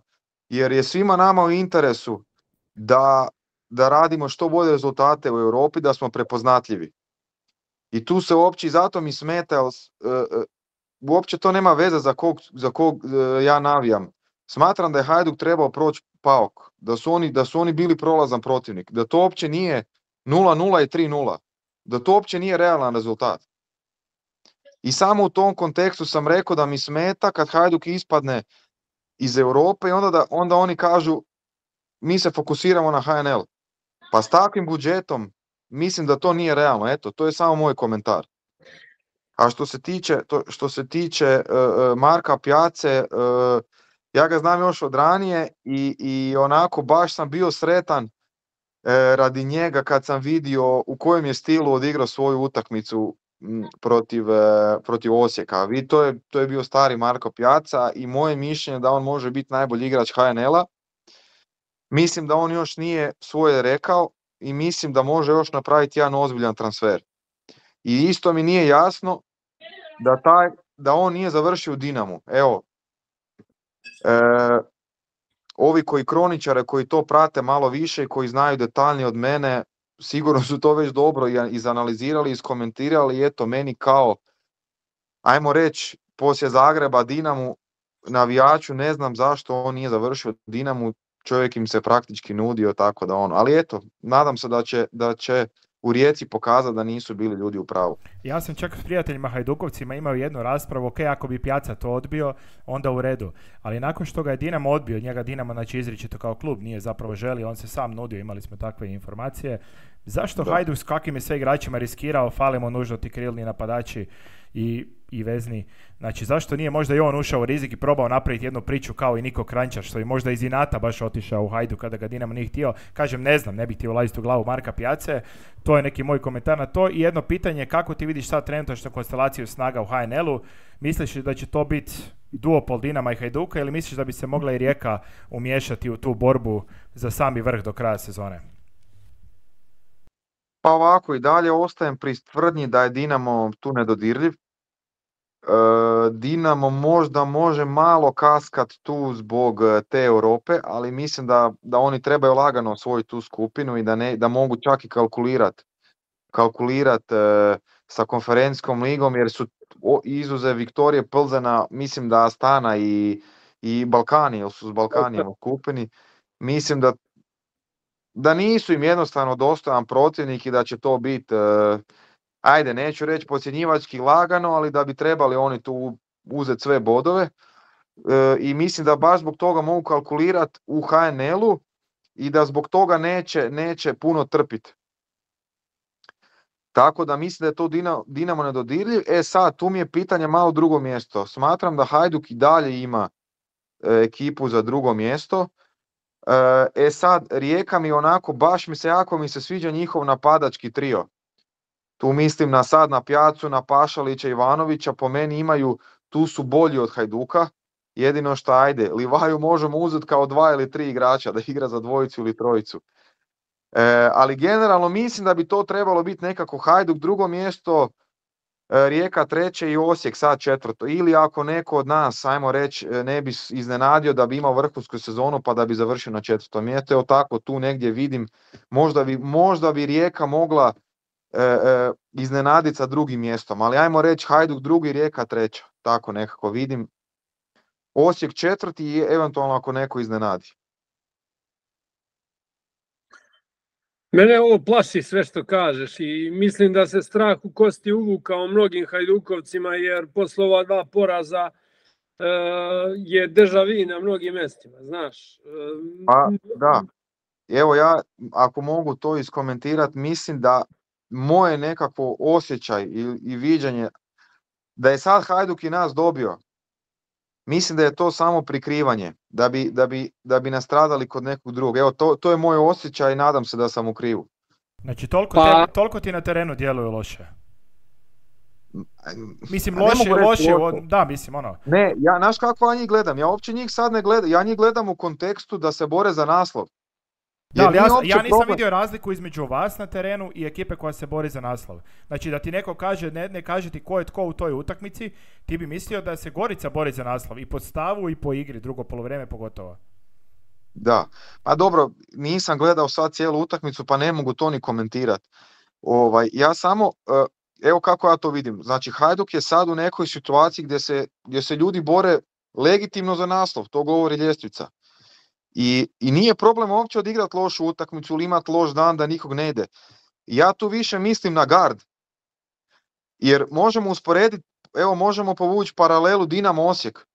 jer je svima nama u interesu da radimo što bolje rezultate u Europi, da smo prepoznatljivi. I tu se uopće, zato mi smeta, uopće to nema veze za kog ja navijam. Smatram da je Hajduk trebao proći PAOK, da su oni bili prolazan protivnik, da to uopće nije 0-0 i 3-0, da to uopće nije realan rezultat. I samo u tom kontekstu sam rekao da mi smeta kad Hajduk ispadne iz Europe i onda oni kažu mi se fokusiramo na HNL. Pa s takvim budžetom mislim da to nije realno. Eto, to je samo moj komentar. A što se tiče Marka Pjace, ja ga znam još od ranije i onako baš sam bio sretan radi njega kad sam vidio u kojem je stilu odigrao svoju utakmicu protiv Osijeka. To je bio stari Marko Pjaca i moje mišljenje da on može biti najbolji igrač HNL-a. Mislim da on još nije svoje rekao i mislim da može još napraviti jedan ozbiljan transfer. I isto mi nije jasno da on nije završio u Dinamu. Evo, ovi kroničare koji to prate malo više i koji znaju detaljnije od mene, sigurno su to već dobro izanalizirali, iskomentirali i eto meni kao, ajmo reći, poslije Zagreba Dinamu navijaču ne znam zašto on nije završio Dinamu, čovjek im se praktički nudio tako da ono, ali eto, nadam se da će u Rijeci pokazati da nisu bili ljudi u pravu. Ja sam čak s prijateljima Hajdukovcima imao jednu raspravu, ok, ako bi Pjaca to odbio, onda u redu. Ali nakon što ga je Dinamo odbio, njega Dinamo znači izričito kao klub nije zapravo želio, on se sam nudio, imali smo takve informacije. Zašto Hajduk s kakvim je sve igračima riskirao, falimo nužno ti krilni napadači i vezni. Znači, zašto nije možda i on ušao u rizik i probao napraviti jednu priču kao i Niko Kranjčar, što je možda iz inata baš otišao u Hajduk kada ga Dinamo nije htio. Kažem, ne znam, ne bih htio ulaziti u glavu Marka Pjace. To je neki moj komentar na to. I jedno pitanje, kako ti vidiš sad trenutačnu konstelaciju snaga u HNL-u? Misliš da će to biti duopol Dinama i Hajduka ili misliš da bi se mogla i Rijeka umiješati u tu borbu za sami vrh do kraja sezone? Pa ovako, i dalje ostajem pri tvrdnji da je Dinamo tu nedodirljiv. Dinamo možda može malo kaskat tu zbog te Europe, ali mislim da oni trebaju lagano osvojiti tu skupinu i da mogu čak i kalkulirat sa konferencijskom ligom, jer su izuzev Viktorije Plzena, mislim da Astana i Balkani, jer su s Balkanijem u skupini, mislim da nisu im jednostavno dostojan protivnik i da će to biti, ajde, neću reći podcjenjivački lagano, ali da bi trebali oni tu uzeti sve bodove. I mislim da baš zbog toga mogu kalkulirati u HNL-u i da zbog toga neće puno trpiti. Tako da mislim da je to Dinamo nedodirljiv. Sad, tu mi je pitanje malo drugo mjesto. Smatram da Hajduk i dalje ima ekipu za drugo mjesto. Sad, Rijeka mi onako, baš jako mi se sviđa njihov napadački trio. Tu mislim na Pjacu, na Pašalića, Ivanovića, po meni tu su bolji od Hajduka jedino što ajde, Livaju možemo uzeti kao 2 ili 3 igrača da igra za dvojicu ili trojicu. Ali generalno mislim da bi to trebalo biti nekako Hajduk drugo mjesto, Rijeka treće i Osijek sad četvrto. Ili ako neko od nas, ajmo reći, ne bi iznenadio da bi imao vrhunsku sezonu pa da bi završio na četvrtom mjestu. Evo tako tu negdje vidim, možda bi Rijeka mogla iznenaditi sa drugim mjestom, ali ajmo reći Hajduk drugi, Rijeka treća. Tako nekako vidim. Osijek četvrti i eventualno ako neko iznenadi. Mene ovo plaši sve što kažeš i mislim da se strah u kosti uvukao mnogim Hajdukovcima jer posle ova 2 poraza je deja vu na mnogim mjestima, znaš. Pa da, evo ja ako mogu to iskomentirati, mislim da moje nekako osjećaj i viđenje da je sad Hajduk i nas dobio, mislim da je to samo prikrivanje, da bi nastradali kod nekog drugog. Evo, to je moj osjećaj i nadam se da sam u krivu. Znači, toliko ti na terenu djeluju loše. Mislim, loše, da, mislim, ono. Ne, znaš kako ja njih gledam? Ja uopće njih sad ne gledam, ja njih gledam u kontekstu da se bore za naslov. Da, ali ja nisam vidio razliku između vas na terenu i ekipe koja se bori za naslov. Znači da ti neko kaže, ne kaže ti ko je tko u toj utakmici, ti bi mislio da se Gorica bori za naslov i po stavu i po igri, drugo poluvreme pogotovo. Da, pa dobro, nisam gledao sad cijelu utakmicu pa ne mogu to ni komentirati. Ja samo, evo kako ja to vidim, znači Hajduk je sad u nekoj situaciji gdje se ljudi bore legitimno za naslov, to govori ljestvica. I nije problem uopće odigrati lošu utakmicu ili imati loš dan da nikog ne ide. Ja tu više mislim na gard. Jer možemo usporediti, evo možemo povući paralelu Dinamo Osijek.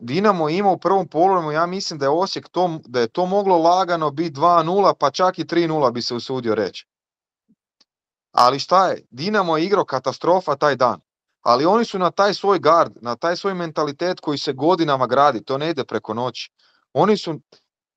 Dinamo ima u prvom poluvremenu, ja mislim da je Osijek da je to moglo lagano biti 2-0 pa čak i 3-0 bi se usudio reći. Ali šta je? Dinamo je igrao katastrofa taj dan. Ali oni su na taj svoj gard, na taj svoj mentalitet koji se godinama gradi, to ne ide preko noći. Oni su,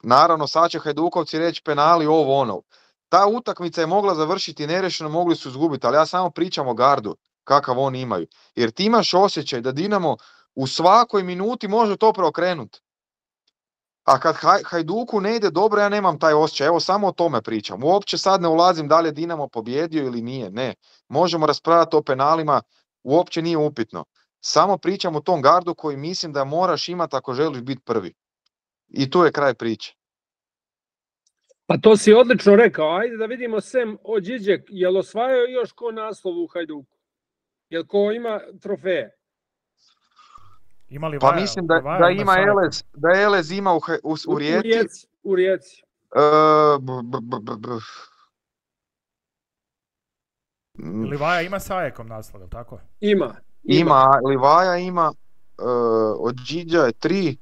naravno sad će Hajdukovci reći penali ovo ono. Ta utakmica je mogla završiti nerešeno, mogli su izgubiti, ali ja samo pričam o gardu, kakav oni imaju. Jer ti imaš osjećaj da Dinamo u svakoj minuti može to preokrenuti. A kad Hajduku ne ide dobro, ja nemam taj osjećaj. Evo samo o tome pričam. Uopće sad ne ulazim da li je Dinamo pobjedio ili nije. Ne. Možemo raspravljati o penalima, uopće nije upitno. Samo pričam o tom gardu koji mislim da moraš imati ako želiš biti prvi. I tu je kraj priče. Pa to si odlično rekao. Ajde da vidimo Sem Ođiđek. Je li osvajao još ko naslov u Hajduku? Je li ko ima trofeje? Pa mislim da ima Elez, da Elez ima u Rijeci. U Rijeci. Livaja ima sa Ajekom naslov, tako? Ima. Livaja ima, Ođiđa je 3.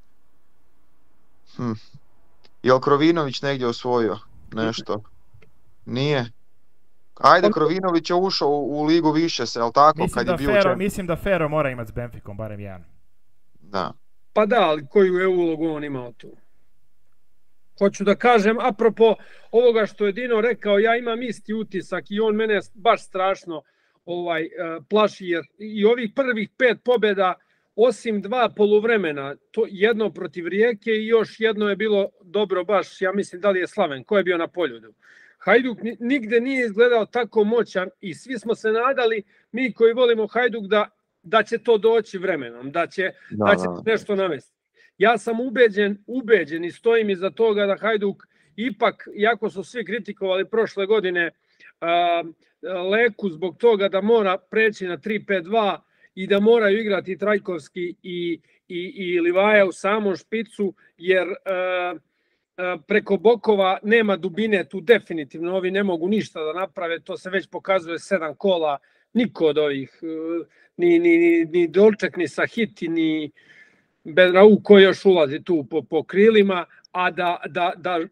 Jel Krovinović negdje osvojio nešto? Nije. Ajde, Krovinović je ušao u ligu više se, jel tako? Mislim da Fero mora imati s Benficom, barem jedan. Da. Pa da, ali koju je ulogu on imao tu? Hoću da kažem, apropo ovoga što je Dino rekao, ja imam isti utisak i on mene baš strašno plaši, jer i ovih prvih 5 pobjeda, osim 2 poluvremena, to jedno protiv Rijeke i još jedno je bilo dobro baš, ja mislim da li je Slaven, ko je bio na Poljudu. Hajduk nigde nije izgledao tako moćan i svi smo se nadali, mi koji volimo Hajduk, da će to doći vremenom, da će nešto navesti. Ja sam ubeđen i stojim iza toga da Hajduk ipak, iako su svi kritikovali prošle godine Leku zbog toga da mora preći na 3-5-2 i da moraju igrati Trajkovski i Livaja u samom špicu, jer preko bokova nema dubine, tu definitivno ovi ne mogu ništa da naprave, to se već pokazuje 7 kola, niko od ovih, ni Dolček, ni Sahiti, ni Bedrau koji još ulazi tu po krilima, a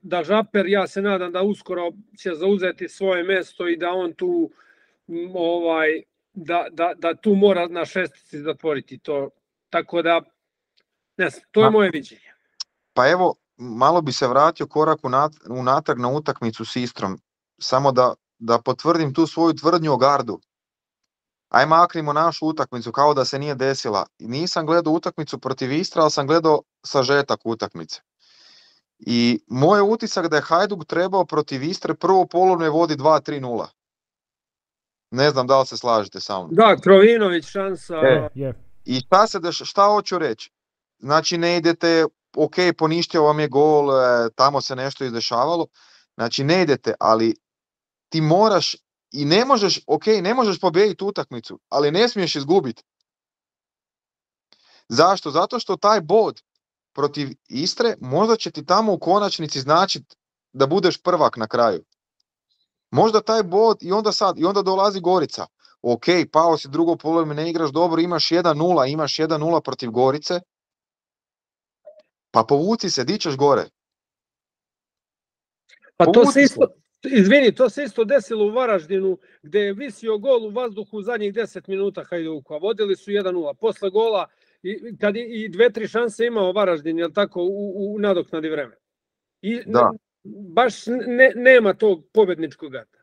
da Žaper, ja se nadam da uskoro će zauzeti svoje mjesto i da on tu da tu mora na šestici zatvoriti to, tako da ne znam, to je moje viđenje. Pa evo, malo bi se vratio korak unatrag na utakmicu s Istrom, samo da potvrdim tu svoju tvrdnju o gardu. aj maknimo našu utakmicu kao da se nije desila. I nisam gledao utakmicu protiv Istra, ali sam gledao sažetak utakmice. I moj utisak da je Hajduk trebao protiv Istre prvo polovne vodi 2-3-0. Ne znam da li se slažete sa mnom. Da, Krovinović šansa. I šta hoću reći? Znači ne idete, ok, poništio vam je gol, tamo se nešto izdešavalo. Znači ne idete, ali ti moraš i ne možeš, ok, ne možeš pobijediti utakmicu, ali ne smiješ izgubiti. Zašto? Zato što taj bod protiv Istre možda će ti tamo u konačnici značiti da budeš prvak na kraju. Možda taj bod i onda dolazi Gorica. Ok, pao si drugo polovreme, ne igraš dobro, imaš 1-0 protiv Gorice, pa povuci se, di ćeš gore. Pa to se isto, izvini, to se isto desilo u Varaždinu, gdje je visio gol u vazduhu u zadnjih 10 minuta Hajduka. Vodili su 1-0. Posle gola kad i 2-3 šanse imao Varaždin, jel tako, u nadoknadi vremena. I baš nema tog pobjedničkog gata.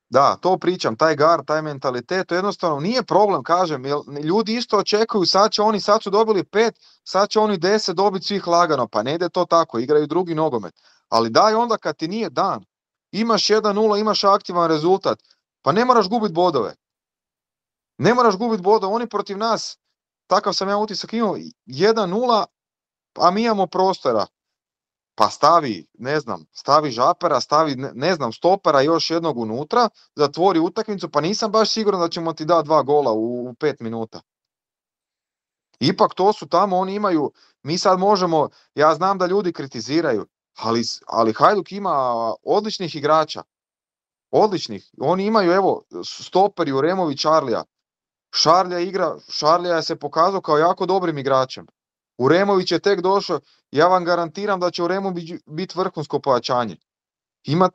Da, to pričam, taj gar, taj mentalitet, to jednostavno nije problem, kažem, jer ljudi isto očekuju, sad su dobili 5, sad će oni 10 dobiti svih lagano, pa ne ide to tako, igraju drugi nogomet. Ali daj onda kad ti nije dan, imaš 1-0, imaš aktivan rezultat, pa ne moraš gubiti bodove. Ne moraš gubiti bodove, oni protiv nas, takav sam ja utisak imao, 1-0, a mi imamo prostora. Pa stavi Žapera, stavi, stopera još jednog unutra, zatvori utakmicu, pa nisam baš siguran da ćemo ti dati 2 gola u 5 minuta. Ipak to su tamo, oni imaju, mi sad možemo, ja znam da ljudi kritiziraju, ali Hajduk ima odličnih igrača. Odličnih. Oni imaju, evo, stoperi u Remović Šarlija. Šarlija je se pokazao kao jako dobrim igračem. Uremović je tek došao, ja vam garantiram da će Uremović biti vrhunsko pojačanje.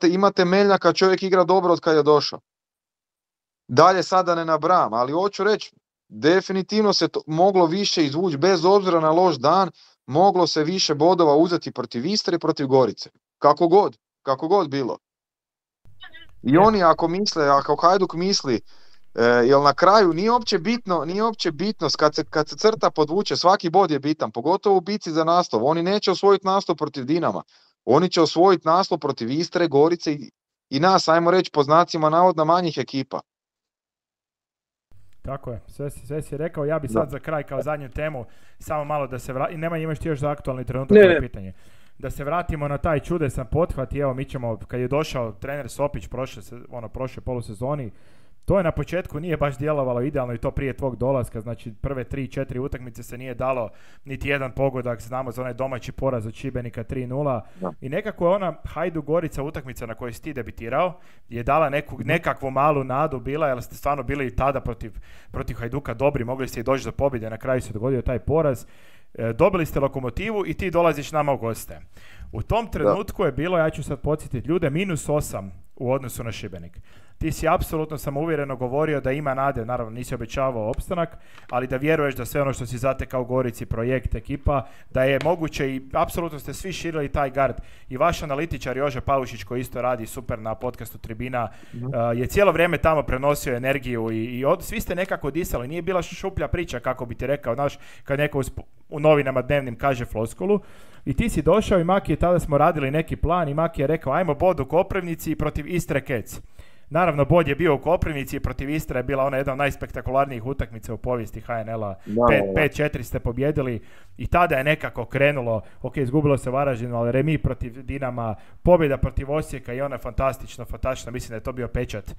Imate Meljnjaka, čovjek igra dobro od kad je došao. Dalje sada ne nabrajam, ali hoću reći, definitivno se moglo više izvući, bez obzira na loš dan, moglo se više bodova uzeti protiv Istre i protiv Gorice. Kako god bilo. I oni ako Hajduk misli, jer na kraju nije uopće bitno kad se crta podvuče, svaki bod je bitan, pogotovo u bici za naslov. Oni neće osvojiti naslov protiv Dinama, oni će osvojiti naslov protiv Istre, Gorice i nas, ajmo reći po znacima navodna manjih ekipa. Tako je, sve si rekao. Ja bi sad za kraj kao zadnju temu samo malo da se vrati, imaš ti još za aktualni trenutak pitanje. Da se vratimo na taj čudesan pothvat i evo mi ćemo, kad je došao trener Sopić prošle polusezoni, to je na početku nije baš djelovalo idealno i to prije tvog dolaska, znači prve 3-4 utakmice se nije dalo niti jedan pogodak, znamo za onaj domaći poraz od Šibenika 3-0 i nekako je ona Hajduk Gorica utakmica na kojoj si ti debitirao je dala nekakvu malu nadu bila, jer ste stvarno bili i tada protiv Hajduka dobri, mogli ste i doći do pobjede, na kraju se dogodio taj poraz. Dobili ste Lokomotivu i ti dolaziš nama u goste. U tom trenutku je bilo, ja ću sad podsjetiti ljude, -8 u odnosu na Šibenik. Ti si apsolutno samouvjereno govorio da ima nade, naravno nisi obećavao opstanak, ali da vjeruješ da sve ono što si zatekao u Gorici, projekt, ekipa, da je moguće i apsolutno ste svi širili taj gard. I vaš analitičar Jože Paušić koji isto radi super na podcastu Tribina je cijelo vrijeme tamo prenosio energiju i svi ste nekako disali. Nije bila šuplja priča kako bi ti rekao, znaš, kad neko u novinama dnevnim kaže floskulu. I ti si došao i Maki, tada smo radili neki plan i Maki je rekao ajmo bod u Koprivnici i protiv Istre Kec. Naravno, bod je bio u Koprivnici i protiv Istre je bila ona jedna od najspektakularnijih utakmica u povijesti HNL-a. 5-4 ste pobjedili i tada je nekako krenulo, ok, izgubilo se Varaždinu, ali remi protiv Dinama, pobjeda protiv Osijeka i ona fantastično, mislim da je to bio pečat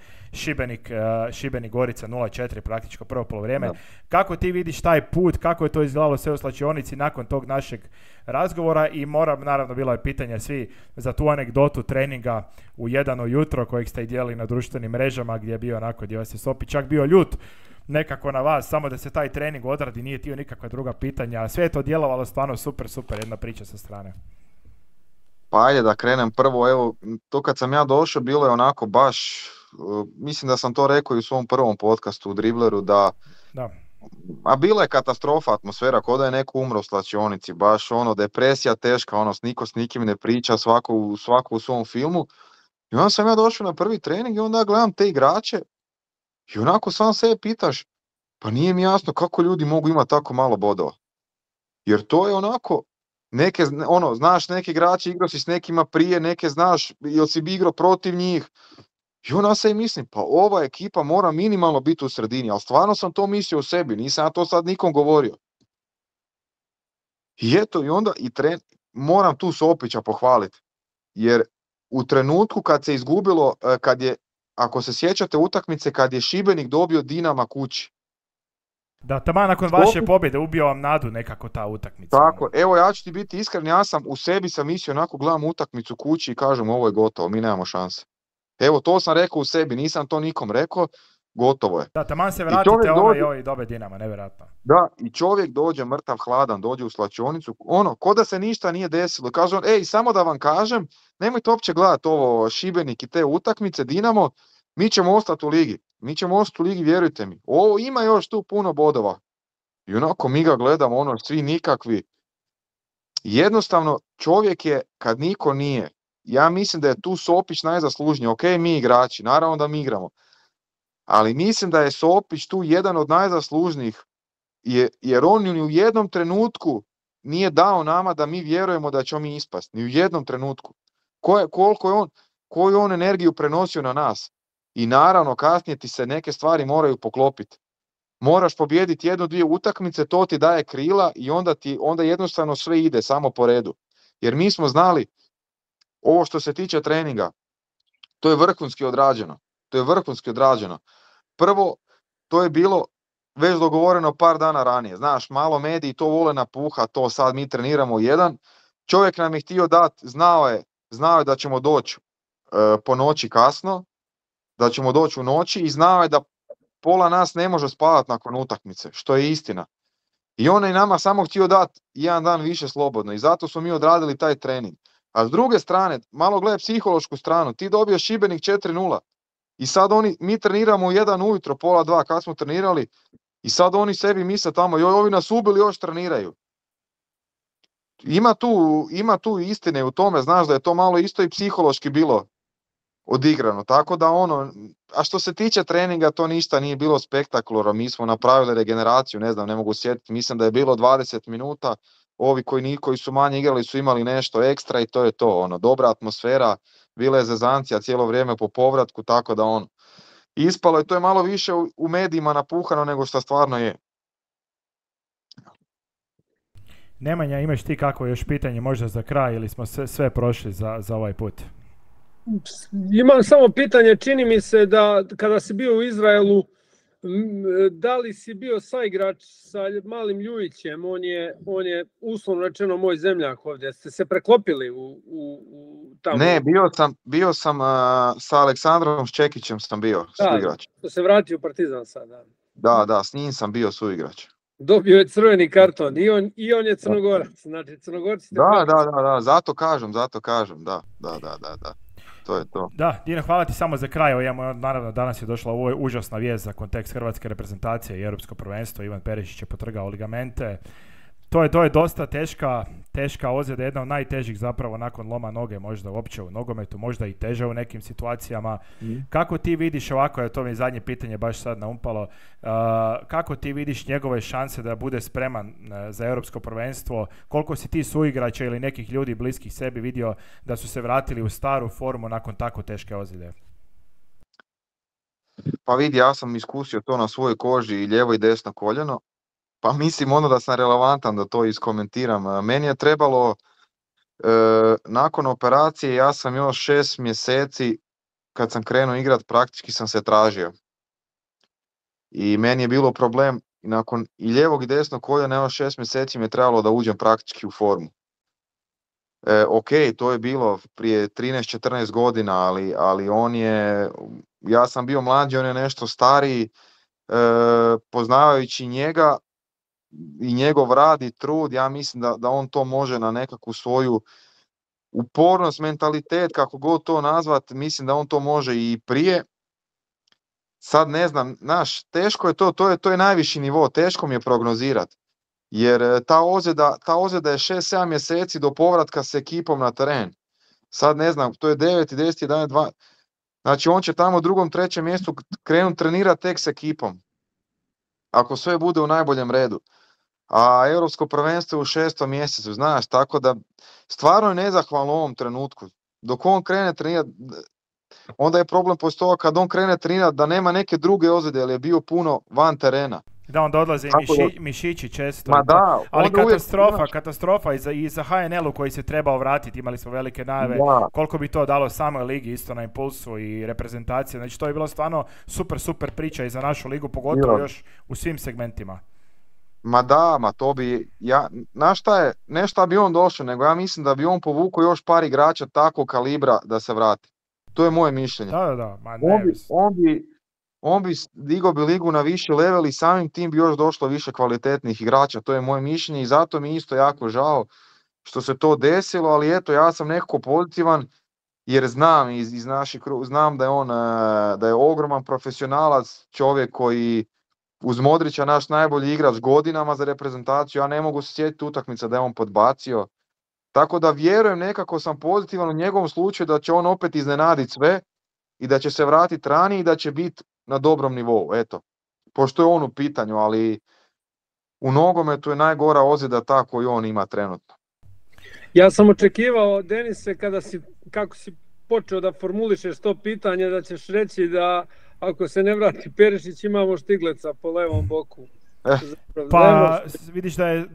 Šibenik Gorica 0-4 praktičko prvo polovrijeme. Kako ti vidiš taj put, kako je to izgledalo sve u slačionici nakon tog našeg razgovora i naravno bilo je pitanje svi za tu anegdotu treninga u 1 ujutro kojeg ste i dijelili na društvenim mrežama gdje je bio onako, gdje vas je Sopi čak bio ljut nekako na vas, samo da se taj trening odradi, nije tio nikakva druga pitanja, a sve je to djelovalo stvarno super, jedna priča sa strane. Pa ajde da krenem prvo, evo, to kad sam ja došao bilo je onako baš, mislim da sam to rekao i u svom prvom podcastu u Dribleru, da. A bila je katastrofa atmosfera, kao da je neko umro u slačionici, baš depresija teška, niko s nikim ne priča, svako u svom filmu. I onda sam ja došao na prvi trening i onda gledam te igrače I onako sam sebe pitaš, pa nije mi jasno kako ljudi mogu imati tako malo bodova. Jer to je onako, znaš neki igrači, igrao si s nekima prije, neke znaš, jel si bi igrao protiv njih. I onda se mislim, pa ova ekipa mora minimalno biti u sredini, ali stvarno sam to mislio o sebi, nisam ja to sad nikom govorio. I eto, i onda moram tu Sopića pohvaliti, jer u trenutku kad se izgubilo, ako se sjećate utakmice, kad je Šibenik dobio Dinama kući. Da, taman nakon vaše pobjede ubio vam nadu nekako ta utakmica. Tako, evo ja ću ti biti iskren, ja sam u sebi sam mislio, onako gledam utakmicu kući i kažem ovo je gotovo, mi nemamo šanse. Evo to sam rekao u sebi, nisam to nikom rekao, gotovo je. Da, taman se vratite i dobe Dinama, nevjerojatno. Da, i čovjek dođe mrtav hladan, dođe u slačionicu, ko da se ništa nije desilo. Kaže on, samo da vam kažem, nemojte uopće gledati ovo Šibenik i te utakmice, Dinamo, mi ćemo ostati u ligi. Mi ćemo ostati u ligi, vjerujte mi. Ovo ima još tu puno bodova. I onako mi ga gledamo, svi nikakvi. Jednostavno, čovjek je, kad niko nije, ja mislim da je tu Sopić najzaslužniji. Ok, mi igrači, naravno da mi igramo. Ali mislim da je Sopić tu jedan od najzaslužnijih, jer on ni u jednom trenutku nije dao nama da mi vjerujemo da ćemo mi ispasti. Ni u jednom trenutku. Koju je on energiju prenosio na nas. I naravno, kasnije ti se neke stvari moraju poklopiti. Moraš pobijediti 1-2 utakmice, to ti daje krila i onda jednostavno sve ide samo po redu. Jer mi smo znali, ovo što se tiče treninga, to je vrhunski odrađeno. Prvo, to je bilo već dogovoreno par dana ranije. Znaš, malo mediji to vole napuha, to sad mi treniramo jedan. Čovjek nam je htio dati, znao je da ćemo doći po noći kasno, da ćemo doći u noći i znao je da pola nas ne može spavati nakon utakmice, što je istina. I on je nama samo htio dati jedan dan više slobodno i zato smo mi odradili taj trening. A s druge strane, malo gledaj psihološku stranu, ti dobio Šibenik 4-0 i sad mi treniramo u 1 ujutro, pola 2 kad smo trenirali i sad oni sebi misle tamo, joj ovi nas ubili, još treniraju. Ima tu istine u tome, znaš da je to malo isto i psihološki bilo odigrano, tako da a što se tiče treninga to ništa nije bilo spektakularno, mi smo napravili regeneraciju, ne mogu sjetiti, mislim da je bilo 20 minuta, ovi koji su manje igrali su imali nešto ekstra i to je to, dobra atmosfera, bila je zezancija cijelo vrijeme po povratku, tako da ispalo je, to je malo više u medijima napuhano nego što stvarno je. Nemanja, imaš ti kako još pitanje možda za kraj ili smo sve prošli za ovaj put? Imam samo pitanje, čini mi se da kada si bio u Izraelu, da li si bio saigrač sa malim Ljujićem, on je uslovno rečeno moj zemljak ovdje, ste se preklopili u tamo? Ne, bio sam sa Aleksandrom Ščekićem sam bio suigrač. Da, se vratio u Partizan sada. Da, s njim sam bio suigrač. Dobio je crveni karton i on je Crnogorac, znači Crnogorci ste... Da, zato kažem, da. To je to. Da, Dino, hvala ti samo za kraj. Naravno, danas je došla ovo užasna vijest za kontekst hrvatske reprezentacije i europsko prvenstvo. Ivan Perišić je potrgao ligamente. To je dosta teška ozljeda, jedna od najtežih zapravo nakon loma noge, možda uopće u nogometu, možda i teže u nekim situacijama. Kako ti vidiš ovako, to mi je zadnje pitanje baš sad naumpalo, kako ti vidiš njegove šanse da bude spreman za europsko prvenstvo? Koliko si ti suigrača ili nekih ljudi bliskih sebi vidio da su se vratili u staru formu nakon tako teške ozljede? Pa vidi, ja sam iskusio to na svojoj koži i lijevo i desno koljeno. Pa mislim da sam relevantan da to iskomentiram. Meni je trebalo, nakon operacije, ja sam još 6 mjeseci, kad sam krenuo igrat, praktički sam se tražio. I meni je bilo problem, nakon i lijevog i desnog koljena, još 6 mjeseci mi je trebalo da uđem praktički u formu. Ok, to je bilo prije 13-14 godina, ali ja sam bio mlađi, on je nešto stariji, poznavajući njega, i njegov rad i trud, ja mislim da on to može na nekakvu svoju upornost, mentalitet, kako god to nazvat, mislim da on to može i prije. Sad ne znam, teško je to je najviši nivo, teško mi je prognozirati, jer ta ozljeda je 6-7 mjeseci do povratka s ekipom na teren. Sad ne znam, to je 9, 10, 11, 12, Znači on će tamo u drugom, trećem mjestu krenuti trenirati tek s ekipom. Ako sve bude u najboljem redu. A europsko prvenstvo je u 6. mjesecu, znaš, tako da stvarno je nezahvalno u ovom trenutku. Dok on krene trenirati, onda je problem postoji kad on krene trenirati da nema neke druge ozljede, jer je bio puno van terena. Da, onda odlaze i mišići često. Ma da, ali katastrofa i za HNL-u koji se trebao vratiti, imali smo velike najave, koliko bi to dalo samoj ligi isto na impulsu i reprezentacije. Znači to je bilo stvarno super priča i za našu ligu, pogotovo još u svim segmentima. Ma da, to bi, ne šta bi on došao, nego ja mislim da bi on povukao još par igrača takvog kalibra da se vrati. To je moje mišljenje. Da, ma ne. On bi digao bi ligu na viši level i samim tim bi još došlo više kvalitetnih igrača, to je moje mišljenje i zato mi isto jako žao što se to desilo, ali eto, ja sam nekako pozitivan jer znam iz naših znam da je on da je ogroman profesionalac, čovjek koji uz Modrića naš najbolji igrač godinama za reprezentaciju, ja ne mogu se sjetiti utakmica da je on podbacio. Tako da vjerujem, nekako sam pozitivan u njegovom slučaju da će on opet iznenaditi sve i da će se vratiti ranije i da će biti na dobrom nivou, eto. Pošto je on u pitanju, ali u nogometu je najgora ozljeda ta koju on ima trenutno. Ja sam očekivao, Denise, kako si počeo da formulišeš to pitanje, da ćeš reći da ako se ne vrati Perišić imamo Štigleca po levom boku. Pa vidiš da je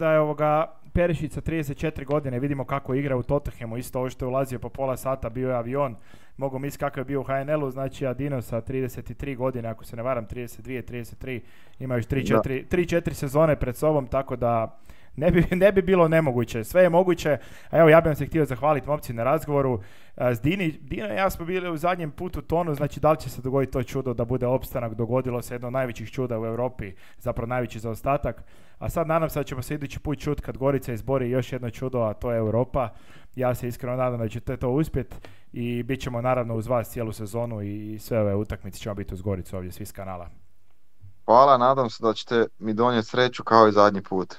Perišić sa 34 godine, vidimo kako igra u Tottenhamu, isto ovo što je ulazio po pola sata, bio je avion, mogu misliti kako je bio u HNL-u, znači Adino sa 33 godine, ako se ne varam 32-33, ima još 3-4 sezone pred sobom, tako da ne bi bilo nemoguće, sve je moguće. A evo, ja bih vam se htio zahvaliti momci na razgovoru. S Dino i ja smo bili u zadnjem putu tonu, znači da li će se dogoditi to čudo da bude opstanak, dogodilo se jedno od najvećih čuda u Europi, zapravo najveći zaostatak. A sad nadam se da ćemo se idući put čuti kad Gorica izbori još jedno čudo, a to je Europa. Ja se iskreno nadam da ćete to uspjeti i bit ćemo naravno uz vas cijelu sezonu i sve ove utakmice ćemo biti uz Goricu ovdje svi s kanala. Hvala, nadam se da ćete mi donijeti sreću kao i zadnji put.